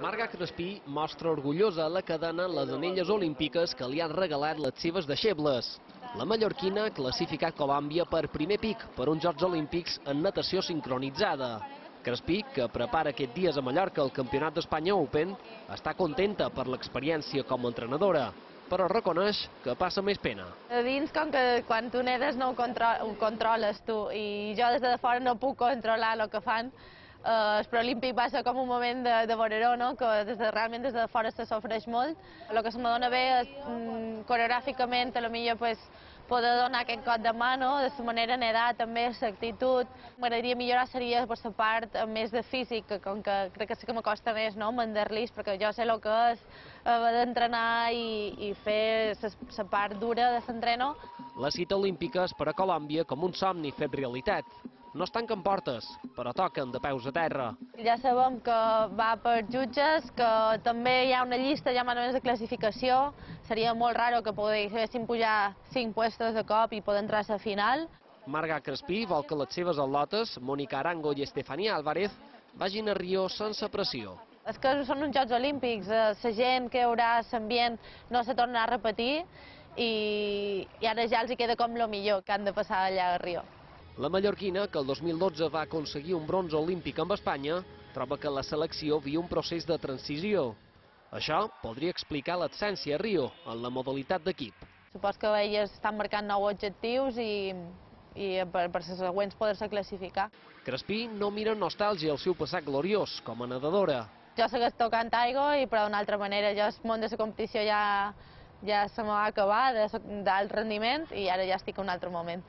Marga Crespí mostra orgullosa la cadena les anelles olímpiques que li han regalat les seves deixebles. La mallorquina ha classificat Colòmbia per primer pic per uns Jocs Olímpics en natació sincronitzada. Crespí, que prepara aquests dies a Mallorca el Campionat d'Espanya Open, està contenta per l'experiència com a entrenadora, però reconeix que passa més pena. A dins, com que quan tu nedes no ho controles tu, i jo des de fora no puc controlar el que fan, el preolímpic va ser com un moment de voreró, no? Que realment des de fora se sofreix molt. El que se m'adona bé és, coreogràficament, potser poder donar aquest cop de mà, no? De la manera nedar, també, l'actitud. M'agradaria millorar seria per la part més de físic, que com que crec que sí que m'acosta més, no? Mandar-los, perquè jo sé el que és haver d'entrenar i fer la part dura de l'entreno. La cita olímpica és per a Colòmbia com un somni fet realitat. No es tanquen portes, però toquen de peus a terra. Ja sabem que va per jutges, que també hi ha una llista ja més o menys de classificació. Seria molt raro que poguéssim pujar 5 puestos de cop i poder entrar a la final. Marga Crespí vol que les seves atletes, Mónica Arango i Estefanía Álvarez, vagin a Rio sense pressió. És que són uns Jocs Olímpics, la gent que hi haurà, l'ambient, no se tornarà a repetir i ara ja els queda com el millor que han de passar allà a Rio. La mallorquina, que el 2012 va aconseguir un bronze olímpic amb Espanya, troba que la selecció viu un procés de transició. Això podria explicar l'absència a Rio en la modalitat d'equip. Supos que elles estan marcant nous objectius i per les següents poder-se classificar. Crespí no mira amb nostàlgia el seu passat gloriós com a nedadora. Jo segueix tocant aigua, però d'una altra manera. Jo el món de la competició ja se m'ha acabat, d'alt rendiment, i ara ja estic en un altre moment.